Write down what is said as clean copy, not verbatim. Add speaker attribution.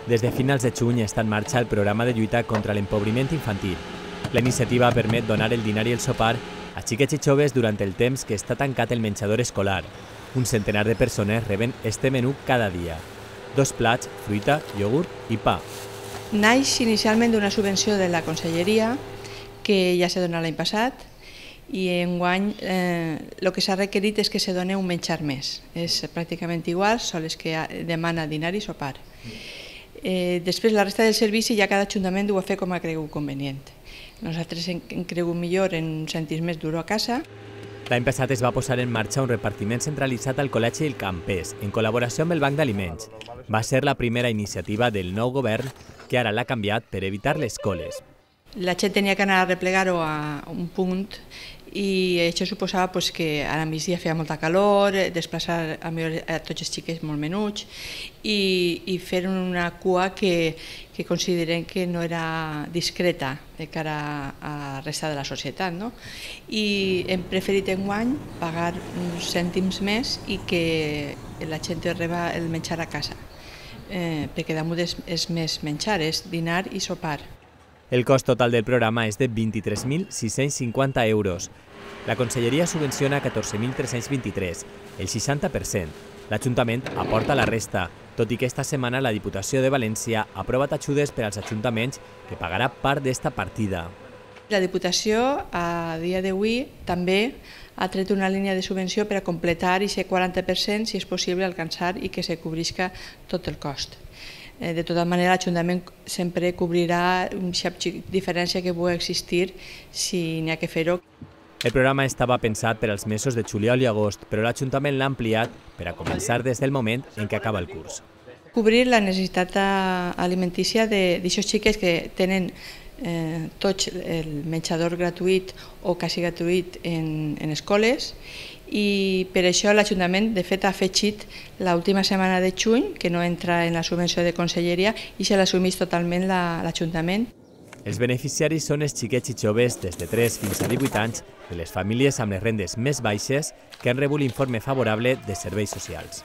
Speaker 1: Des de finals de juny està en marxa el programa de lluita contra l'empobriment infantil. La iniciativa permet donar el dinar i el sopar a xiquets i joves durant el temps que està tancat el menjador escolar. Un centenar de persones reben este menú cada dia. 2 plats, fruita, iogurt i pa.
Speaker 2: Naix inicialment d'una subvenció de la Conselleria que ja s'ha donat l'any passat i enguany el que s'ha requerit és que se doni un menjar més. És pràcticament igual, sols que demana dinar i sopar. Després la resta del servici ja cada ajuntament ho ha fet com ha cregut convenient. Nosaltres hem cregut millor en uns cèntims més d'euro a casa.
Speaker 1: L'any passat es va posar en marxa un repartiment centralitzat al Col·legi El Campés, en col·laboració amb el Banc d'Aliments. Va ser la primera iniciativa del nou govern, que ara l'ha canviat per evitar les coles.
Speaker 2: La gent tenia que anar a replegar-ho a un punt i això suposava que a la migdia feia molta calor, desplaçar a tots els xiquets molt menuts i fer una cua que considerem que no era discreta de cara a la resta de la societat. I hem preferit enguany pagar uns cèntims més i que la gent reba el menjar a casa, perquè damunt és més menjar, és dinar i sopar.
Speaker 1: El cost total del programa és de 23.650 euros. La Conselleria subvenciona 14.323, el 60%. L'Ajuntament aporta la resta, tot i que esta setmana la Diputació de València ha aprovat ajudes per als ajuntaments que pagarà part d'esta partida.
Speaker 2: La Diputació, a dia d'avui, també ha tret una línia de subvenció per a completar aquest 40%, si és possible alcançar i que se cobrisca tot el cost. De tota manera, l'Ajuntament sempre cobrirà una diferència que pugui existir si n'hi ha que fer-ho.
Speaker 1: El programa estava pensat per als mesos de juliol i agost, però l'Ajuntament l'ha ampliat per a començar des del moment en què acaba el curs.
Speaker 2: Cobrir la necessitat alimentícia d'aquests xiquets que tenen tots el menjador gratuït o quasi gratuït en escoles, i per això l'Ajuntament de fet ha afegit l'última setmana de juny, que no entra en la subvenció de Conselleria, i se l'assumeix totalment l'Ajuntament.
Speaker 1: Els beneficiaris són els xiquets i joves des de 3 fins a 18 anys de les famílies amb les rendes més baixes que han rebut l'informe favorable de serveis socials.